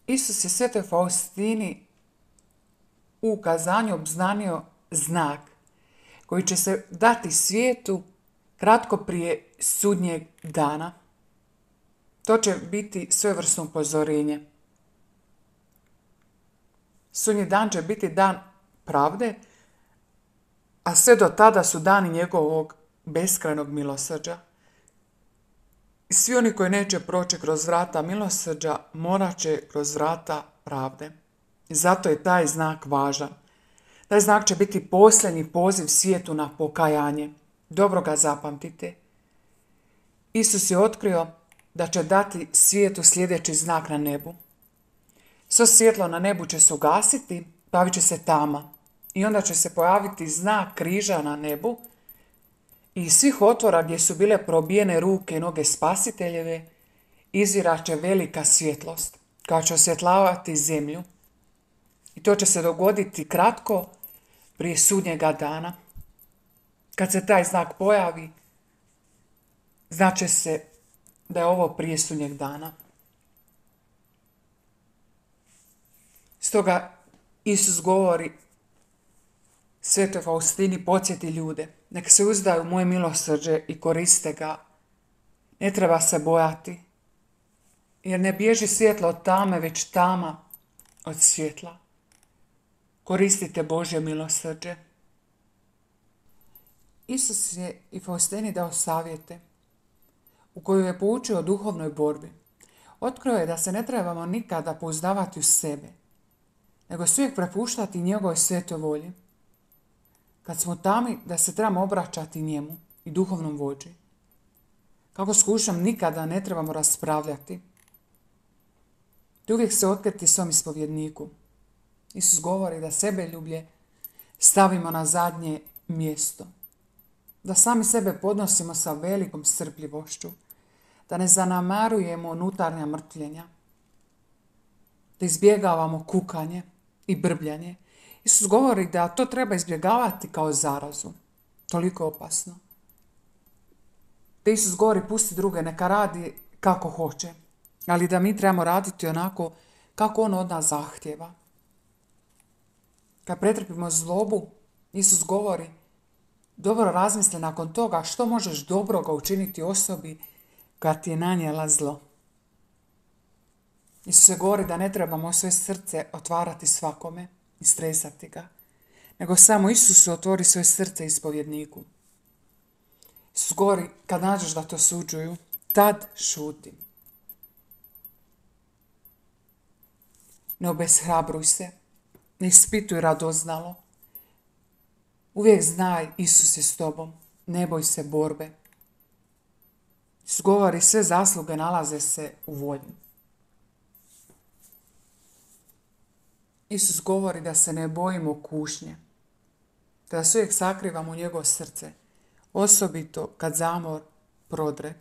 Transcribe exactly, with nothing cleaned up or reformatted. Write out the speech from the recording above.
Isus je svetoj Faustini u ukazanju obznanio znak koji će se dati svijetu kratko prije sudnjeg dana. To će biti svojevrsno upozorenje. Sudnji dan će biti dan pravde, a sve do tada su dani njegovog beskrajnog milosrđa. I svi oni koji neće proći kroz vrata milosrđa, morat će kroz vrata pravde. I zato je taj znak važan. Taj znak će biti posljednji poziv svijetu na pokajanje. Dobro ga zapamtite. Isus je otkrio da će dati svijetu sljedeći znak na nebu. Svo svjetlo na nebu će se ugasiti, pojavit će se tama. I onda će se pojaviti znak križa na nebu i iz svih otvora gdje su bile probijene ruke i noge spasiteljeve izviraće velika svjetlost koja će osvjetlavati zemlju. I to će se dogoditi kratko prije sudnjega dana. Kad se taj znak pojavi, znaće se da je ovo prije sudnjeg dana. Stoga Isus govori svetoj Faustini, podsjeti ljude, nek se uzdaju u moje milosrđe i koriste ga. Ne treba se bojati, jer ne bježi svjetlo od tame, već tama od svjetla. Koristite Božje milosrđe. Isus je i Faustini dao savjete u koju je poučio o duhovnoj borbi. Otkrio je da se ne trebamo nikada pouzdavati u sebe, nego se uvijek prepuštati njegovoj svetoj volji. Kad smo tami, da se trebamo obraćati njemu i duhovnom vođi. Kako s kušom nikada ne trebamo raspravljati, te uvijek se otkriti svom ispovjedniku. Isus govori da sebeljublje stavimo na zadnje mjesto. Da sami sebe podnosimo sa velikom strpljivošću. Da ne zanamarujemo unutarnja mrtvljenja. Da izbjegavamo kukanje i brbljanje. Isus govori da to treba izbjegavati kao zarazu. Toliko opasno. Da Isus govori pusti druge, neka radi kako hoće. Ali da mi trebamo raditi onako kako on od nas zahtjeva. Kad pretrpimo zlobu, Isus govori dobro razmisli nakon toga što možeš dobroga učiniti osobi koja ti je nanijela zlo. Isus se govori da ne trebamo svoje srce otvarati svakome i stresati ga, nego samo Isusu otvori svoje srce ispovjedniku. Isus govori kad nađeš da to suđuju, tad šuti. Ne obeshrabruj se, ne ispituj radoznalo. Uvijek znaj, Isus je s tobom, ne boj se borbe. Isus govori, sve zasluge nalaze se u volji. Isus govori da se ne bojimo kušnje, da se uvijek sakrivamo u njegovo srce, osobito kad zamor prodre.